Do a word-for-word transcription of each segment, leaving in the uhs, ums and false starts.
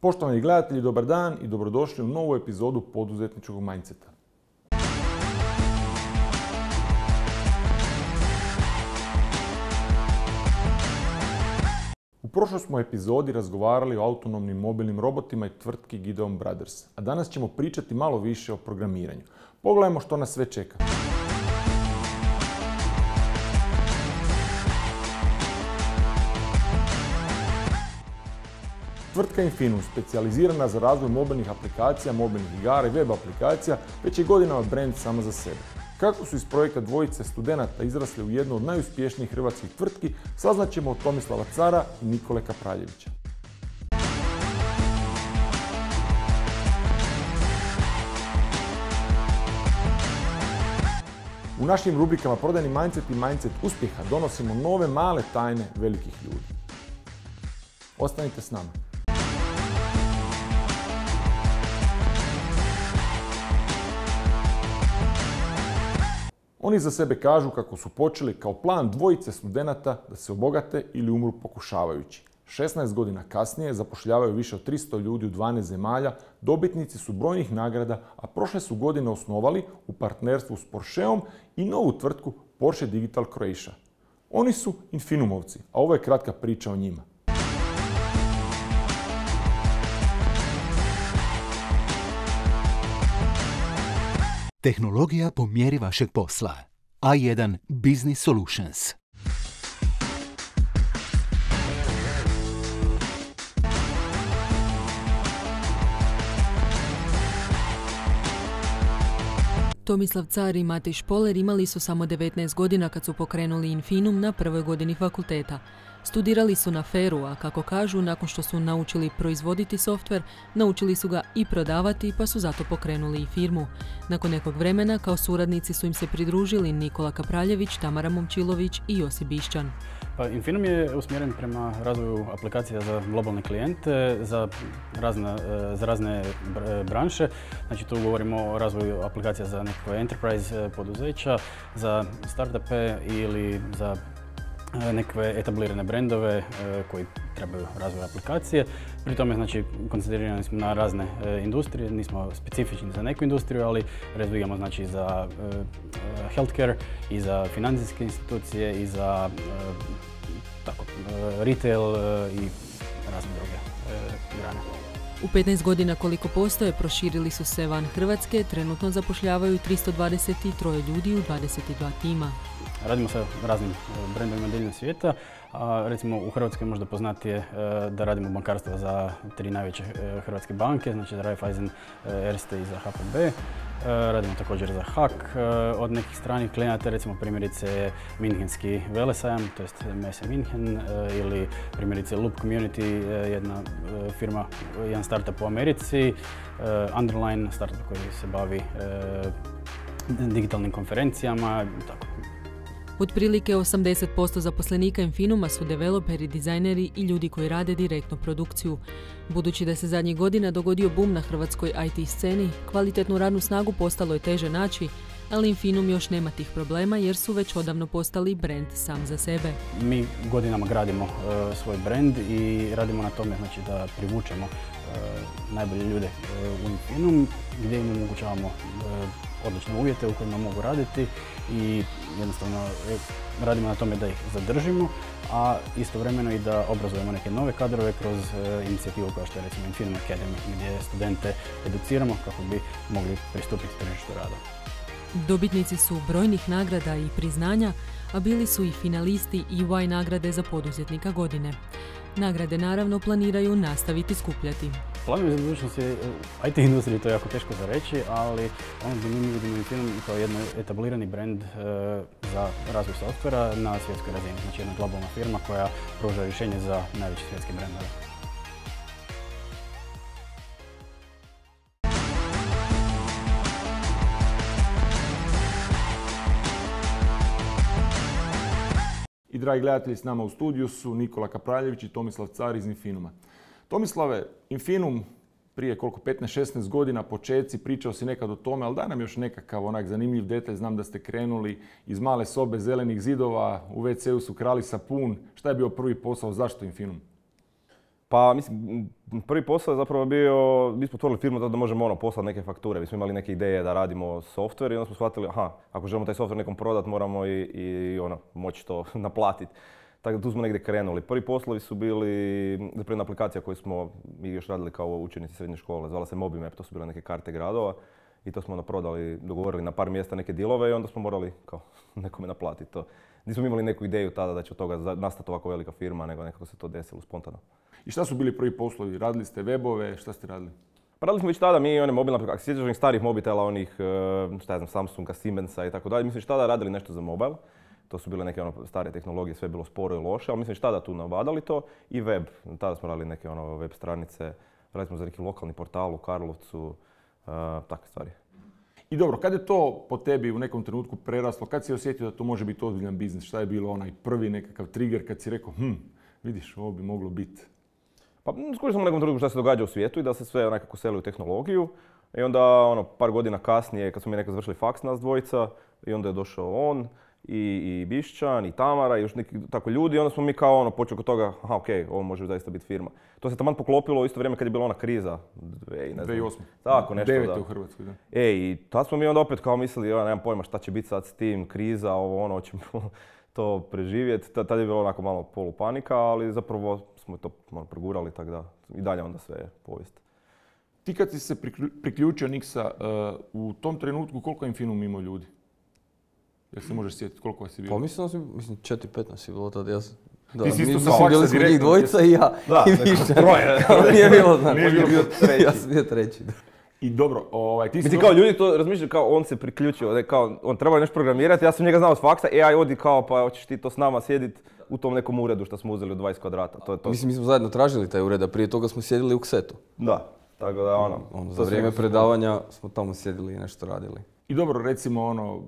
Poštovani gledatelji, dobar dan i dobrodošli u novu epizodu poduzetničkog mindseta. U prošloj smo epizodi razgovarali o autonomnim mobilnim robotima i tvrtki Gideon Brothers, a danas ćemo pričati malo više o programiranju. Pogledajmo što nas sve čeka. Tvrtka Infinum, specijalizirana za razvoj mobilnih aplikacija, mobilnih igara i web aplikacija, već je godinama brand sama za sebe. Kako su iz projekta dvojice studenata izrasli u jednu od najuspješnijih hrvatskih tvrtki, saznaćemo od Tomislava Cara i Nikole Kapraljevića. U našim rubrikama Prodajni mindset i mindset uspjeha donosimo nove male tajne velikih ljudi. Ostanite s nama. Oni za sebe kažu kako su počeli kao plan dvojice studenata da se obogate ili umru pokušavajući. šesnaest godina kasnije zapošljavaju više od tristo ljudi u dvanaest zemalja, dobitnici su brojnih nagrada, a prošle su godine osnovali u partnerstvu s Porscheom i novu tvrtku Porsche Digital Croatia. Oni su Infinumovci, a ovo je kratka priča o njima. Tehnologija po mjeri vašeg posla. A jedan Business Solutions. Tomislav Car i Matej Špoler imali su samo devetnaest godina kad su pokrenuli Infinum na prvoj godini fakulteta. Studirali su na Feru, a kako kažu, nakon što su naučili proizvoditi softver, naučili su ga i prodavati, pa su zato pokrenuli i firmu. Nakon nekog vremena, kao suradnici su im se pridružili Nikola Kapraljević, Tamara Momčilović i Josip Bišćan. Pa, Infinum je usmjeren prema razvoju aplikacija za globalne klijente, za razne, za razne branše. Znači, tu govorimo o razvoju aplikacija za nekakve enterprise poduzeća, za startupe ili za nekakve etablirane brendove koji trebaju razvoj aplikacije. Pri tome, znači, koncentrirani smo na razne industrije, nismo specifični za neku industriju, ali razvijamo, znači, za healthcare i za financijske institucije i za tako, retail i razne druge grane. U petnaest godina koliko postoje, proširili su se van Hrvatske, trenutno zapošljavaju tristo dvadeset tri ljudi u dvadeset dva tima. Radimo sa raznim brendovima diljem svijeta. A, recimo u Hrvatskoj možda poznatije da radimo bankarstvo za tri najveće hrvatske banke, znači za Raiffeisen, Erste i za H P B. Radimo također za H A K od nekih stranih klijenata, recimo primjerice Minhenski velesajam, to jest Messe Minhen, ili primjerice Loop Community, jedna firma, jedan startup u Americi, Underline, startup koji se bavi digitalnim konferencijama i tako. Otprilike osamdeset posto zaposlenika Infinuma su developeri, dizajneri i ljudi koji rade direktno produkciju. Budući da se zadnjih godina dogodio boom na hrvatskoj I T sceni, kvalitetnu radnu snagu postalo je teže naći, ali Infinum još nema tih problema jer su već odavno postali brand sam za sebe. Mi godinama gradimo uh, svoj brand i radimo na tome, znači, da privučemo uh, najbolje ljude uh, u Infinum, gdje im omogućavamo uh, odlične uvjete u kojima mogu raditi i jednostavno radimo na tome da ih zadržimo, a istovremeno i da obrazujemo neke nove kadrove kroz uh, inicijativu kao što je recimo Infinum Academy, gdje studente educiramo kako bi mogli pristupiti tržištu rada. Dobitnici su brojnih nagrada i priznanja, a bili su i finalisti E Y nagrade za poduzetnika godine. Nagrade naravno planiraju nastaviti skupljati. Planovi za budućnost je u I T industriji, to je jako teško za reći, ali ono gdje mi vidimo Infinum kao jedan etablirani brand e, za razvoj softvera na svjetskoj razini. Znači jedna globalna firma koja pruža rješenje za najveće svjetske brendove. I dragi gledatelji, s nama u studiju su Nikola Kapraljević i Tomislav Car iz Infinuma. Tomislave, Infinum prije koliko petnaest šesnaest godina, početci, pričao si nekad o tome, ali daj nam još nekakav onak zanimljiv detalj. Znam da ste krenuli iz male sobe zelenih zidova, u ve ce u su krali sapun. Šta je bio prvi posao, zašto Infinum? Pa, mislim, prvi posao je zapravo bio, mi smo otvorili firmu da možemo ono, poslati neke fakture. Mi smo imali neke ideje da radimo software i onda smo shvatili, aha, ako želimo taj software nekom prodati, moramo i, i ono, moći to naplatiti. Tako da tu smo negdje krenuli. Prvi poslovi su bili, zapravo jedna aplikacija koju smo mi još radili kao učenici srednje škole, zvala se MobiMap, to su bile neke karte gradova. I to smo onda prodali, dogovorili na par mjesta neke dealove i onda smo morali kao nekome naplatiti to. Nismo imali neku ideju tada da će od toga nastati ovako velika firma, nego nekako se to desilo spontano. I šta su bili prvi poslovi? Radili ste webove, šta ste radili? Pa radili smo već tada mi one mobilne aplikacije, sjećaš onih starih mobitela, onih, šta ja znam, Samsunga, Siemensa i tako dalje. Mislim već tada radili nešto za mobile. To su bile neke ono stare tehnologije, sve je bilo sporo i loše, ali mislim već tada tu nabadali to. I web, tada smo radili neke ono web stranice, radili smo za neki lokalni portal u Karlovcu, uh, takve stvari. I dobro, kad je to po tebi u nekom trenutku preraslo, kad si osjetio da to može biti ozbiljan biznis? Šta je bilo onaj prvi nekakav trigger kad si rekao, hm, vidiš, ovo bi moglo biti? Pa skušali smo u nekom trenutku šta se događa u svijetu i da se sve nekako seli u tehnologiju. I onda, ono, par godina kasnije, kad smo mi nekako završili faks nas dvojica, i onda je došao on, i, i Bišćan, i Tamara, i još neki tako ljudi, i onda smo mi kao ono, počeli kod toga, aha, okej, okay, ovo može zaista biti firma. To se taman poklopilo u isto vrijeme kad je bila ona kriza. dvije tisuće osme. Tako, nešto, devete da. u Hrvatskoj, da. E, i tad smo mi onda opet kao mislili, ja nemam pojma šta će biti sad s tim, kriza, ovo ono, hoćemo to preživjeti. Tad je bilo onako malo polupanika, ali zapravo smo to malo progurali, tako da i dalje onda sve je povijest. Ti kad si se priključio Nixa, uh, u tom trenutku koliko je Infinum imao ljudi? Jel se možeš sjetiti koliko vas je bilo? Pa mislim da si, mislim četiri pet nas je bilo tada, ja sam... Da, ti si isto mi, sa mislim, bili faksa smo njih direktno. dvojica i ja. Da, i više. troje. Nije bilo, znači. Nije bilo treći. Ja sam bio treći. Da. I dobro, ovaj, ti si... Mislim, došao... kao ljudi to razmišljaju kao on se priključio, ne, kao on treba nešto programirati, ja sam njega znao od faksa, e aj odi kao pa hoćeš ti to s nama sjedit u tom nekom uredu što smo uzeli od dvadeset kvadrata. To je to. Mislim, mi smo zajedno tražili taj ured, a prije toga smo sjedili u Ksetu. Da, tako da ono... Ono, za vrijeme predavanja smo tamo sjedili i nešto radili. I dobro, recimo ono,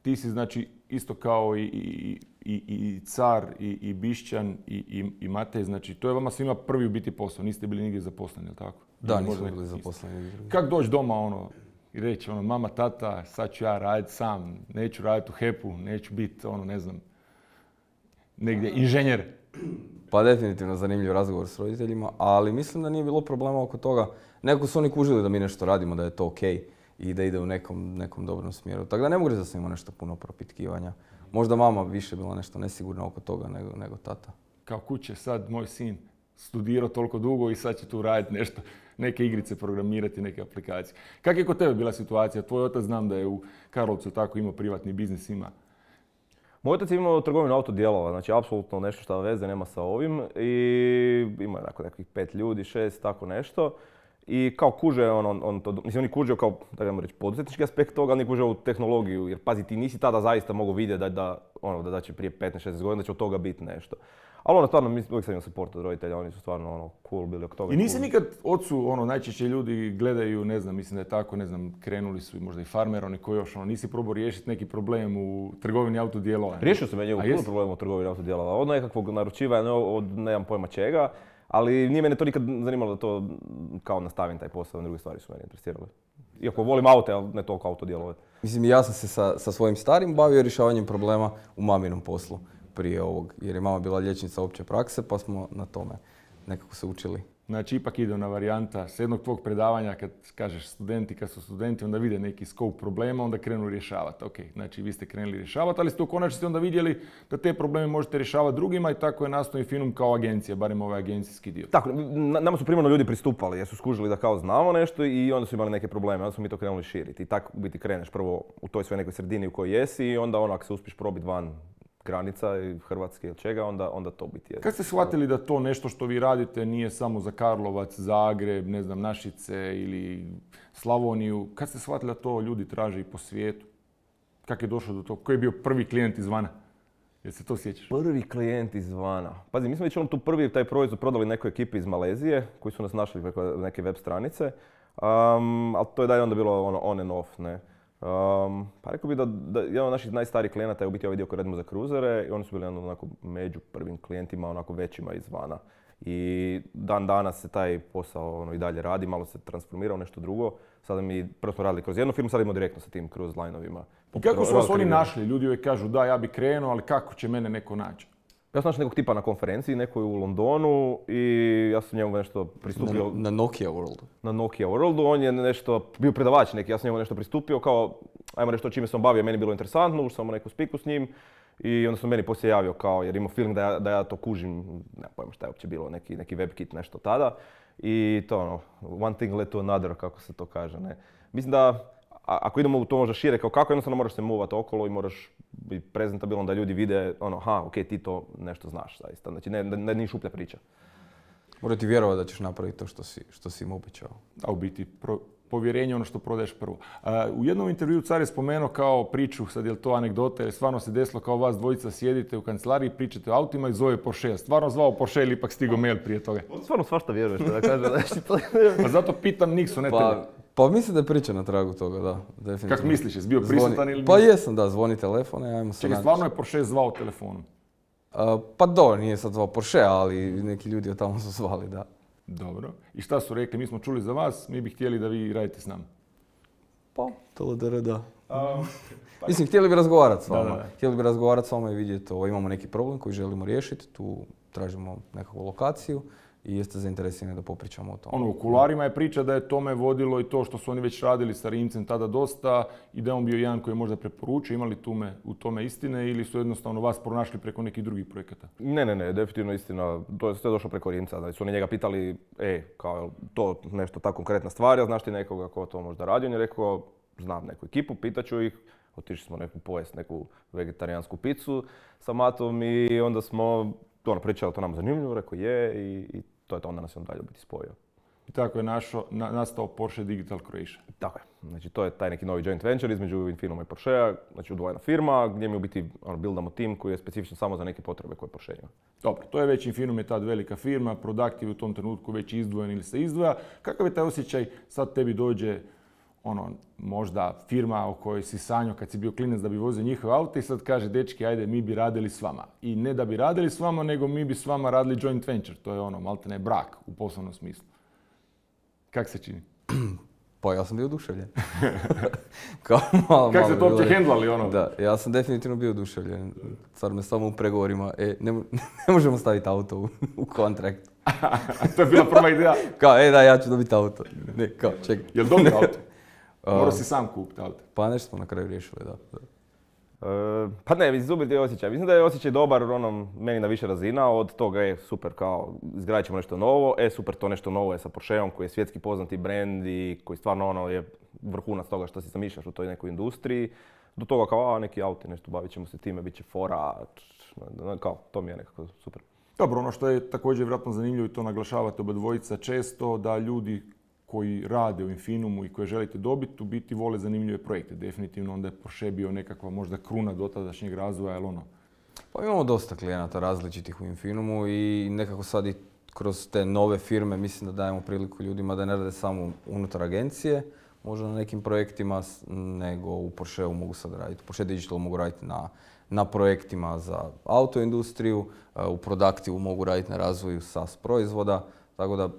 ti si znači isto kao i, i, i, i Car, i, i Bišćan, i, i, i Matej, znači to je vama svima prvi u biti posao, niste bili nigdje zaposleni, jel tako? Da, Ili nismo možda bili isto. zaposleni. Kako doći doma ono i reći ono, mama, tata, sad ću ja raditi sam, neću raditi u HEP-u, neću biti ono, ne znam, negdje inženjer. Pa definitivno zanimljiv razgovor s roditeljima, ali mislim da nije bilo problema oko toga. Nekako su oni kužili da mi nešto radimo, da je to okej i da ide u nekom, nekom dobrom smjeru. Tako da ne mogu reći da sam imao nešto puno propitkivanja. Možda mama više bila nešto nesigurna oko toga nego, nego tata. Kao kuće, sad moj sin studirao toliko dugo i sad će tu raditi nešto, neke igrice programirati, neke aplikacije. Kako je kod tebe bila situacija? Tvoj otac znam da je u Karlovcu tako imao privatni biznis, ima. Moj otac je imao trgovinu autodijelova, znači apsolutno nešto što veze nema sa ovim i ima je nekih pet ljudi, šest, tako nešto. I kao kuže on, on, on to, mislim on je kužio kao, da ga reći, poduzetnički aspekt toga, ali nije kužio u tehnologiju, jer pazi, ti nisi tada zaista mogao vidjeti da, da, ono, da, da će prije petnaest šesnaest godina da će od toga biti nešto. Ali ono, stvarno, mi uvijek sam imao support od roditelja, oni su stvarno ono, cool bili oko toga. I nisi cool. nikad ocu, ono, najčešće ljudi gledaju, ne znam, mislim da je tako, ne znam, krenuli su možda i farmer, oni koji još, ono, nisi probao riješiti neki problem u trgovini autodijelova. Riješio sam ja njegu puno problema u trgovini autodijelova, od nekakvog naručivanja, od nemam pojma čega. Ali nije mene to nikad zanimalo da to kao nastavim taj posao, druge stvari su mene interesirale. Iako volim aute, ali ne toliko autodijelove. Mislim, ja sam se sa, sa svojim starim bavio rješavanjem problema u maminom poslu prije ovog. Jer je mama bila liječnica opće prakse, pa smo na tome nekako se učili. Znači, ipak ide ona varijanta s jednog tvog predavanja, kad kažeš studenti, kad su studenti, onda vide neki scope problema, onda krenu rješavati. Ok, znači vi ste krenuli rješavati, ali ste u konačnici onda vidjeli da te probleme možete rješavati drugima i tako je nastao Infinum kao agencija, barem ovaj agencijski dio. Tako, nama su primarno ljudi pristupali jer su skužili da kao znamo nešto i onda su imali neke probleme, onda smo mi to krenuli širiti. I tako u biti kreneš prvo u toj svojoj nekoj sredini u kojoj jesi i onda ono, ako se uspiješ probiti van granica i Hrvatske ili čega, onda, onda to biti je. Kad ste shvatili da to nešto što vi radite nije samo za Karlovac, Zagreb, ne znam, Našice ili Slavoniju, kad ste shvatili da to ljudi traže i po svijetu? Kako je došlo do toga? Koji je bio prvi klijent izvana? Jel se to sjećaš? Prvi klijent izvana. Pazi, mi smo već on tu prvi taj proizvod prodali nekoj ekipi iz Malezije koji su nas našli preko neke web stranice, um, ali to je dalje onda bilo ono on and off, ne. Um, pa rekao bih da, da jedan od naših najstarijih klijenata je u biti ovaj dio koji radimo za kruzere i oni su bili onako među prvim klijentima, onako većima izvana. I dan danas se taj posao ono, i dalje radi, malo se transformirao nešto drugo. Sada mi, prvo smo radili kroz jednu firmu, sada idemo direktno sa tim cruise line-ovima. I kako su vas oni našli? Ljudi uvijek kažu da, ja bi krenuo, ali kako će mene neko naći? Ja sam našao nekog tipa na konferenciji, nekoj u Londonu i ja sam njemu nešto pristupio. Na, na Nokia Worldu. Na Nokia Worldu, on je nešto, bio predavač neki, ja sam njemu nešto pristupio kao, ajmo nešto čime sam bavio, meni je bilo interesantno, ušao sam u neku spiku s njim i onda sam meni poslije javio kao, jer imao feeling da ja, da ja to kužim, ne pojma šta je uopće bilo, neki, neki WebKit, nešto tada. I to ono, one thing led to another, kako se to kaže, ne. Mislim da, a, ako idemo u to možda šire, kao kako jednostavno moraš se movati okolo i moraš biti prezentabilan da ljudi vide, ono, aha, ok, ti to nešto znaš, zaista. Znači, ne, ne, ne šuplja priča. Mora ti vjerovati da ćeš napraviti to što si, što si im obećao. A u biti, pro, povjerenje je ono što prodaješ prvo. Uh, u jednom intervjuu Car je spomenuo kao priču, sad je li to anegdota, jer stvarno se desilo kao vas dvojica sjedite u kancelariji, pričate o autima i zove Porsche. Stvarno zvao Porsche ili ipak stigo mail prije toga? Stvarno svašta vjeruješ, da kažem. Znači, to... Pa zato pitam Niksu, ne pa, tebe. Pa mislim da je priča na tragu toga, da. Definitivno. Kako misliš, jesi bio prisutan zvoni... ili... Pa jesam, da, zvoni telefon, ajmo se Čekaj, naći. stvarno je Porsche zvao telefonom? Uh, pa dobro, nije sad zvao Porsche, ali neki ljudi od tamo su zvali, da. Dobro. I šta su rekli? Mi smo čuli za vas, mi bi htjeli da vi radite s nama. Pa, to da, da. Um, Mislim, htjeli bi razgovarati s vama. Da, da. Htjeli bi razgovarati s vama i vidjeti ovo, imamo neki problem koji želimo riješiti, tu tražimo nekakvu lokaciju i jeste zainteresirani da popričamo o tome. Ono, u kularima je priča da je tome vodilo i to što su oni već radili sa Rimcem tada dosta i da je on bio jedan koji je možda preporučio. Imali tume, u tome istine ili su jednostavno vas pronašli preko nekih drugih projekata? Ne, ne, ne, definitivno istina. To je sve došlo preko Rimca. Znači su oni njega pitali, e, kao to nešto ta konkretna stvar, ja znaš ti nekoga ko to možda radi? On je rekao, znam neku ekipu, pitaću ih. Otišli smo neku pojest, neku vegetarijansku picu sa Matom i onda smo ono, pričali, to nam zanimljivo, rekao je i, i to je to, onda nas je on dalje biti spojio. I tako je našo, na, nastao Porsche Digital Croatia. Tako je. Znači to je taj neki novi joint venture između Infinuma i Porschea, znači udvojena firma gdje mi u biti ono, buildamo tim koji je specifičan samo za neke potrebe koje Porsche ima. Dobro, to je već Infinum je tad velika firma, Product je u tom trenutku već izdvojen ili se izdvoja. Kakav je taj osjećaj, sad tebi dođe ono, možda firma o kojoj si sanjao kad si bio klinac da bi vozio njihove auto i sad kaže, dečki, ajde, mi bi radili s vama. I ne da bi radili s vama, nego mi bi s vama radili joint venture. To je ono, maltene brak u poslovnom smislu. Kak se čini? Pa ja sam bio oduševljen. Kao malo, Kako malo se to uopće bilo- hendlali, ono? Da, ja sam definitivno bio oduševljen. Sad me samo u pregovorima, e, ne, mo- ne možemo staviti auto u, u kontrakt. To je bila prva ideja. Kao, e da, ja ću dobiti auto. Ne, kao, čekaj. Jel dobro auto? Morao Um, si sam kupiti auto. Pa nešto smo na kraju riješili, da. da. E, pa ne, mislim, super ti je osjećaj. Mislim da je osjećaj dobar ono, meni na više razina. Od toga je super kao izgradit ćemo nešto novo. E super, to nešto novo je sa Porscheom koji je svjetski poznati brand i koji stvarno ono je vrhunac toga što si zamišljaš u toj nekoj industriji. Do toga kao, a neki auti, nešto bavit ćemo se time, bit će fora, kao, to mi je nekako super. Dobro, ono što je također vjerojatno zanimljivo i to naglašavate oba dvojica često, da ljudi koji rade u Infinumu i koje želite dobiti, u biti vole zanimljive projekte. Definitivno onda je Porsche bio nekakva možda kruna dotadašnjeg razvoja, jel ono? Pa imamo dosta klijenata različitih u Infinumu i nekako sad i kroz te nove firme mislim da dajemo priliku ljudima da ne rade samo unutar agencije, možda na nekim projektima, s- nego u Porscheu mogu sad raditi. U Porsche Digital mogu raditi na, na projektima za autoindustriju, e, u Productivu mogu raditi na razvoju SaaS proizvoda, tako da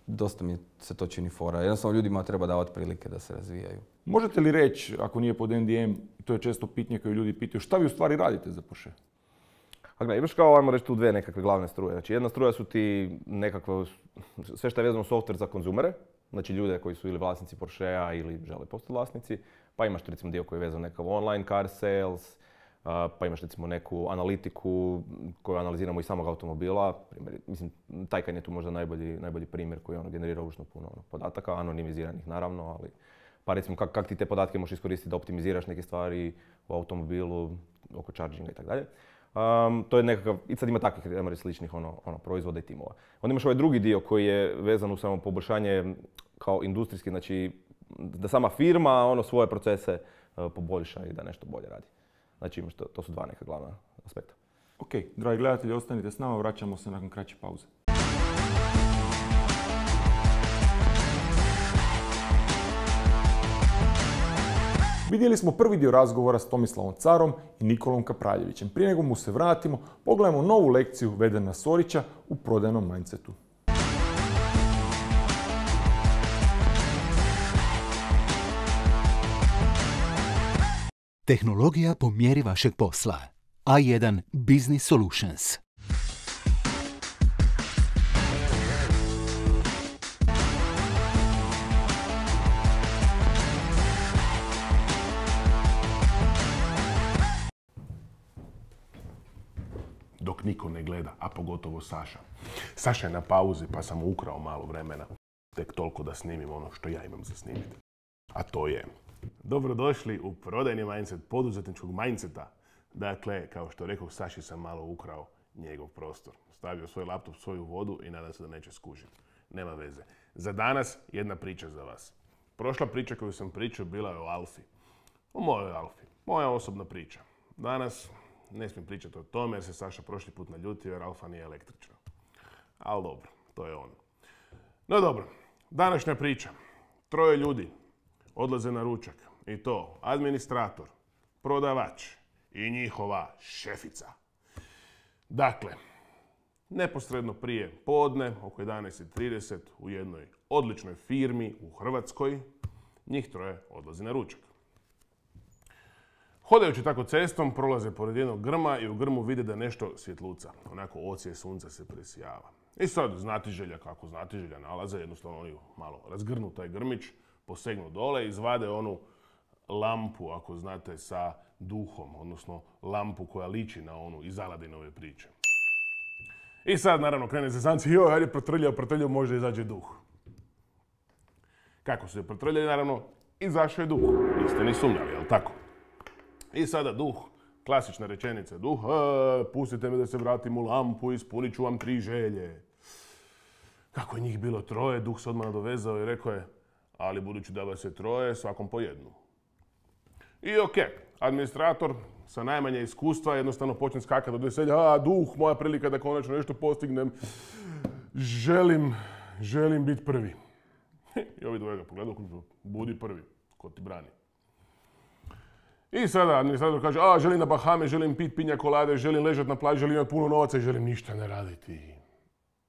dosta mi se to čini fora. Jednostavno ljudima treba davati prilike da se razvijaju. Možete li reći, ako nije pod N D M, to je često pitanje koje ljudi pitaju, šta vi u stvari radite za Porsche? A gledaj, imaš kao, ajmo reći, tu dve nekakve glavne struje. Znači jedna struja su ti nekakve, sve što je vezano software za konzumere, znači ljude koji su ili vlasnici Porschea ili žele postati vlasnici, pa imaš tu recimo dio koji je vezan nekakav online car sales, a, pa imaš recimo neku analitiku koju analiziramo iz samog automobila. Primjer, mislim, Taycan je tu možda najbolji, najbolji primjer koji ono generira užasno puno ono, podataka, anonimiziranih naravno, ali pa recimo kak, kak ti te podatke možeš iskoristiti da optimiziraš neke stvari u automobilu, oko charginga i tako dalje. Um, to je nekakav, i sad ima takvih ajmo reći, sličnih ono, ono, proizvoda i timova. Onda imaš ovaj drugi dio koji je vezan u samo poboljšanje kao industrijski, znači da sama firma ono, svoje procese uh, poboljša i da nešto bolje radi. Znači imaš to, to su dva neka glavna aspekta. Ok, dragi gledatelji, ostanite s nama, vraćamo se nakon kraće pauze. Vidjeli smo prvi dio razgovora s Tomislavom Carom i Nikolom Kapraljevićem. Prije nego mu se vratimo, pogledajmo novu lekciju Vedena Sorića u prodajnom mindsetu. Tehnologija po mjeri vašeg posla. A jedan Business Solutions. niko ne gleda, a pogotovo Saša. Saša je na pauzi pa sam mu ukrao malo vremena. Tek toliko da snimim ono što ja imam za snimiti. A to je... Dobrodošli u prodajni mindset poduzetničkog mindseta. Dakle, kao što rekao, Saši sam malo ukrao njegov prostor. Stavio svoj laptop, svoju vodu i nadam se da neće skužiti. Nema veze. Za danas jedna priča za vas. Prošla priča koju sam pričao bila je o Alfi. O mojoj Alfi. Moja osobna priča. Danas ne smijem pričati o tome jer se Saša prošli put naljutio jer Alfa nije električna. Ali dobro, to je on. No dobro, današnja priča. Troje ljudi odlaze na ručak. I to administrator, prodavač i njihova šefica. Dakle, neposredno prije podne, oko jedanaest i trideset, u jednoj odličnoj firmi u Hrvatskoj, njih troje odlazi na ručak. Hodajući tako cestom, prolaze pored jednog grma i u grmu vide da nešto svjetluca. Onako ocije sunca se presijava. I sad znatiželja, kako znatiželja nalaze, jednostavno oni malo razgrnu taj grmić, posegnu dole i izvade onu lampu, ako znate, sa duhom, odnosno lampu koja liči na onu iz Aladinove priče. I sad, naravno, krene zezanci, joj, hajde protrljao, protrljao, možda izađe duh. Kako su je protrljali, naravno, izašao je duh. Niste ni sumnjali, jel tako? I sada duh, klasična rečenica, duh, e, pustite me da se vratim u lampu, ispunit ću vam tri želje. Kako je njih bilo troje, duh se odmah nadovezao i rekao je, ali budući da vas je troje, svakom po jednu. I okej, okay, administrator sa najmanje iskustva jednostavno počne skakati od veselja, a duh, moja prilika da konačno nešto postignem, želim, želim biti prvi. I ovi dvoje ga pogledaju, budi prvi, ko ti brani. I sada administrator kaže, a želim na Bahame, želim pit pinja kolade, želim ležati na plaži, želim imati puno novaca i želim ništa ne raditi.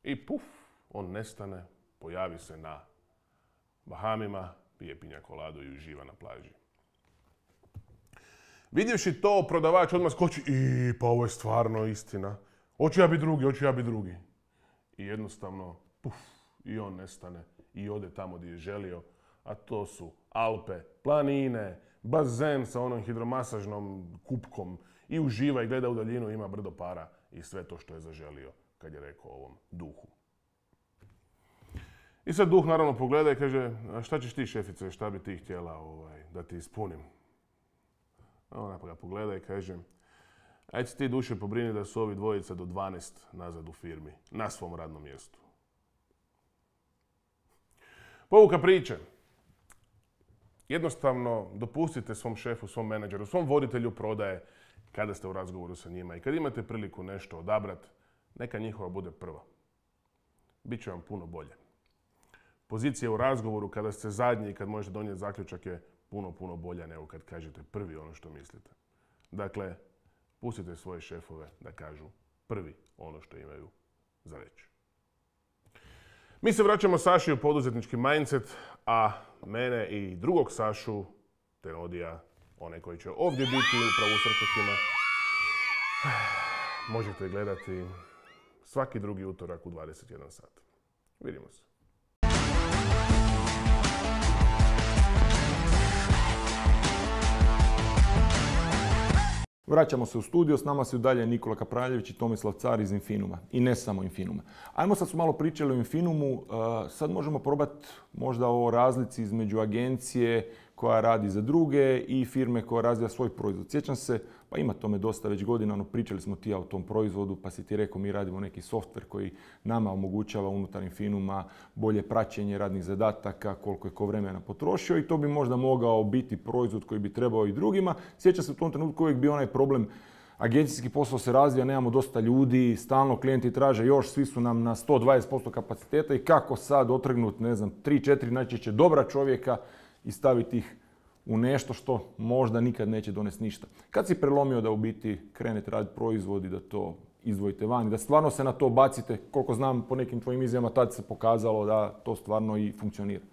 I puf, on nestane, pojavi se na Bahamima, pije pinja koladu i uživa na plaži. Vidjevši to, prodavač odmah skoči, i pa ovo je stvarno istina. Hoću ja biti drugi, hoću ja biti drugi. I jednostavno, puf, i on nestane i ode tamo gdje je želio, a to su Alpe, planine, bazen sa onom hidromasažnom kupkom i uživa i gleda u daljinu, ima brdo para i sve to što je zaželio kad je rekao ovom duhu. I sad duh naravno pogleda i kaže, a šta ćeš ti, šefice, šta bi ti htjela ovaj, da ti ispunim? A ona ga pogleda i kaže, ajde ti duše pobrini da su ovi dvojica do dvanaest nazad u firmi, na svom radnom mjestu. Pouka priče. Jednostavno dopustite svom šefu, svom menadžeru, svom voditelju prodaje kada ste u razgovoru sa njima i kad imate priliku nešto odabrati, neka njihova bude prva. Biće vam puno bolje. Pozicija u razgovoru kada ste zadnji i kad možete donijeti zaključak je puno, puno bolja nego kad kažete prvi ono što mislite. Dakle, pustite svoje šefove da kažu prvi ono što imaju za reći. Mi se vraćamo Saši u poduzetnički mindset, a mene i drugog Sašu, Tenodija, onaj koji će ovdje biti upravo u srčekima, možete gledati svaki drugi utorak u dvadeset jedan sat. Vidimo se. Vraćamo se u studio, s nama su dalje Nikola Kapraljević i Tomislav Car iz Infinuma. I ne samo Infinuma. Ajmo sad su malo pričali o Infinumu, sad možemo probati možda o razlici između agencije koja radi za druge i firme koja razvija svoj proizvod. Sjećam se, pa ima tome dosta već godina, no pričali smo ti ja o tom proizvodu, pa si ti rekao mi radimo neki softver koji nama omogućava unutar Infinuma bolje praćenje radnih zadataka, koliko je ko vremena potrošio i to bi možda mogao biti proizvod koji bi trebao i drugima. Sjećam se u tom trenutku uvijek bio onaj problem, agencijski posao se razvija, nemamo dosta ljudi, stalno klijenti traže još, svi su nam na sto dvadeset posto kapaciteta i kako sad otrgnuti, ne znam, tri četiri najčešće dobra čovjeka i staviti ih u nešto što možda nikad neće donesti ništa. Kad si prelomio da u biti krenete raditi proizvod i da to izdvojite van i da stvarno se na to bacite, koliko znam po nekim tvojim izjavama, tad se pokazalo da to stvarno i funkcionira.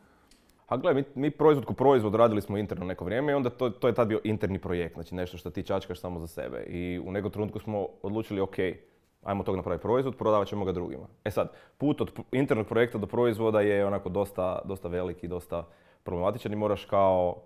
A gledaj, mi, mi proizvod ko proizvod radili smo interno neko vrijeme i onda to, to je tad bio interni projekt, znači nešto što ti čačkaš samo za sebe. I u nekom trenutku smo odlučili, ok, ajmo tog napraviti proizvod, prodavat ćemo ga drugima. E sad, put od internog projekta do proizvoda je onako dosta, dosta velik i dosta problematičan i moraš kao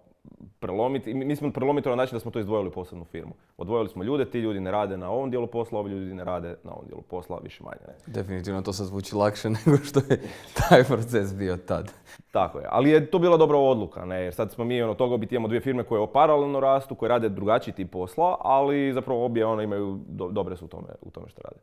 prelomiti. Mi smo prelomiti na način da smo to izdvojili u posebnu firmu. Odvojili smo ljude, ti ljudi ne rade na ovom dijelu posla, ovi ljudi ne rade na ovom dijelu posla, više manje. Ne. Definitivno to sad zvuči lakše nego što je taj proces bio tad. Tako je, ali je to bila dobra odluka, ne, jer sad smo mi ono toga biti imamo dvije firme koje paralelno rastu, koje rade drugačiji tip posla, ali zapravo obje ono imaju, do, dobre su u tome, u tome što rade.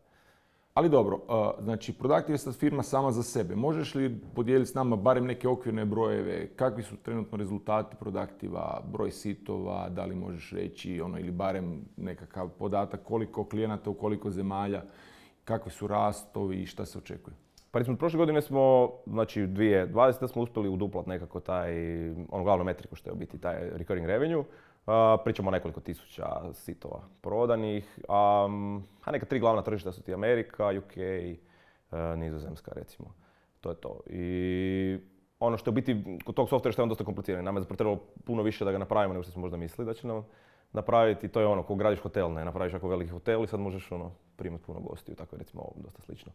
Ali dobro, znači Productive je sad firma sama za sebe. Možeš li podijeliti s nama barem neke okvirne brojeve? Kakvi su trenutno rezultati Productiva, broj sitova, da li možeš reći ono, ili barem nekakav podatak koliko klijenata u koliko zemalja, kakvi su rastovi i šta se očekuje? Pa recimo, prošle godine smo, znači dvije tisuće dvadesete smo uspjeli uduplat nekako taj, ono glavnu metriku što je u biti taj recurring revenue. Uh, pričamo o nekoliko tisuća sitova prodanih, um, a neka tri glavna tržišta su ti Amerika, U K, uh, Nizozemska recimo. To je to. I ono što je u biti kod tog softvera što je on dosta komplicirano. Nama je zapravo trebalo puno više da ga napravimo nego što smo možda mislili da će nam napraviti. To je ono, ko gradiš hotel, ne napraviš jako veliki hotel i sad možeš ono, primati puno gostiju, tako je recimo ovo dosta slično.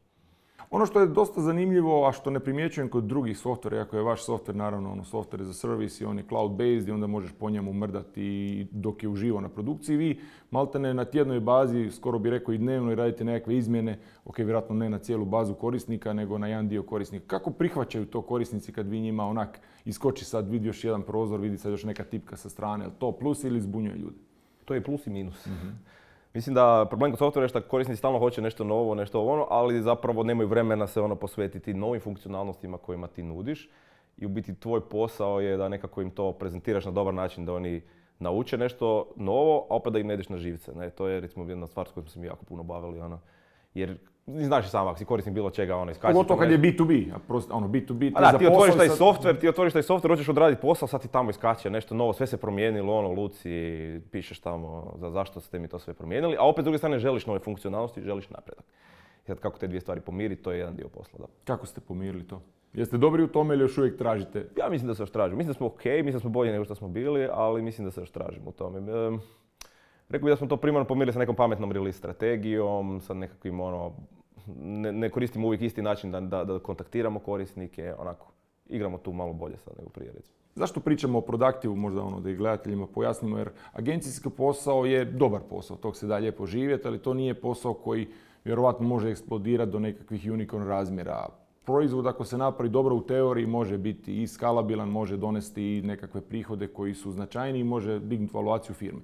Ono što je dosta zanimljivo, a što ne primjećujem kod drugih softvera, iako je vaš softver naravno ono, softver za servis i on je cloud-based i onda možeš po njemu mrdati dok je uživo na produkciji. Vi maltene na tjednoj bazi, skoro bi rekao i dnevno, i radite nekakve izmjene, ok, vjerojatno ne na cijelu bazu korisnika, nego na jedan dio korisnika. Kako prihvaćaju to korisnici kad vi njima onak iskoči sad, vidi još jedan prozor, vidi sad još neka tipka sa strane, je to plus ili zbunjuje ljude? To je plus i minus. Mm-hmm. Mislim da problem kod softvera je što korisnici stalno hoće nešto novo, nešto ono, ali zapravo nemaju vremena se ono posvetiti novim funkcionalnostima kojima ti nudiš. I u biti tvoj posao je da nekako im to prezentiraš na dobar način, da oni nauče nešto novo, a opet da im ne ideš na živce. Ne? To je recimo jedna stvar s kojom smo se mi jako puno bavili. Ono. Jer znaš i sam, ako si korisnik bilo čega, ono, iskači. Pogotovo kad je B to B, a prosto, ono, B to B, ti a da, ti otvoriš taj sad... softver, ti otvoriš taj softver, hoćeš odraditi posao, sad ti tamo iskače nešto novo, sve se promijenilo, ono, Luci, pišeš tamo za zašto ste mi to sve promijenili, a opet s druge strane želiš nove funkcionalnosti, želiš napredak. I sad kako te dvije stvari pomiriti, to je jedan dio posla, da. Kako ste pomirili to? Jeste dobri u tome ili još uvijek tražite? Ja mislim da se još tražimo. Mislim da smo ok, mislim da smo bolji nego što smo bili, ali mislim da se još tražimo u tome. E, rekao bih da smo to primarno pomirili sa nekom pametnom release strategijom, sa nekakvim ono, Ne, ne koristimo uvijek isti način da, da, da kontaktiramo korisnike, onako, igramo tu malo bolje sad nego prije, recimo. Zašto pričamo o Productive, možda ono da i gledateljima pojasnimo, jer agencijski posao je dobar posao, tog se da lijepo živjeti, ali to nije posao koji vjerovatno može eksplodirati do nekakvih unicorn razmjera. Proizvod ako se napravi dobro u teoriji može biti i skalabilan, može donesti i nekakve prihode koji su značajni i može dignuti valuaciju firme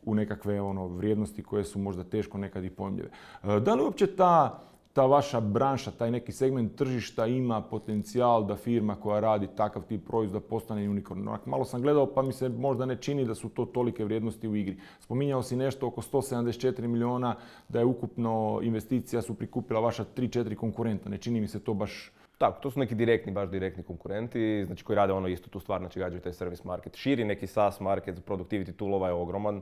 u nekakve ono, vrijednosti koje su možda teško nekad i pojmljive. Da li uopće ta, ta vaša branša, taj neki segment tržišta ima potencijal da firma koja radi takav tip proizvoda postane unicorn? Malo sam gledao pa mi se možda ne čini da su to tolike vrijednosti u igri. Spominjao si nešto oko sto sedamdeset četiri milijuna, da je ukupno investicija su prikupila vaša tri četiri konkurenta. Ne čini mi se to baš... Tako, to su neki direktni, baš direktni konkurenti, znači koji rade ono istu tu stvar, znači gađaju taj service market. Širi neki SaaS market, productivity toolova je ogroman.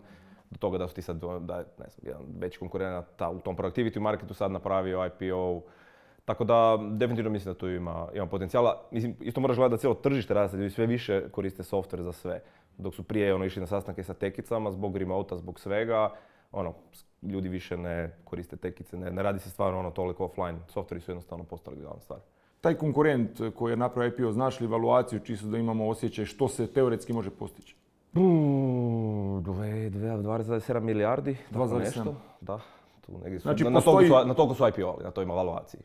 Do toga da su ti sad, da ne znam, jedan veći konkurent u tom productivity marketu sad napravio I P O. Tako da definitivno mislim da tu ima, ima potencijala. Mislim, isto moraš gledati da cijelo tržište raste, ljudi sve više koriste software za sve. Dok su prije ono, išli na sastanke sa tekicama zbog remota, zbog svega, ono, ljudi više ne koriste tekice, ne, ne radi se stvarno ono toliko offline. Softveri su jednostavno postali glavna stvar. Taj konkurent koji je napravio I P O, znaš li evaluaciju, čisto da imamo osjećaj što se teoretski može postići? dvadeset zarez sedam milijardi, dva zarez sedam. Da, tu negdje su, znači, na, postoji... na, toliko su, na toliko su I P O-ali, na toj evaluaciji.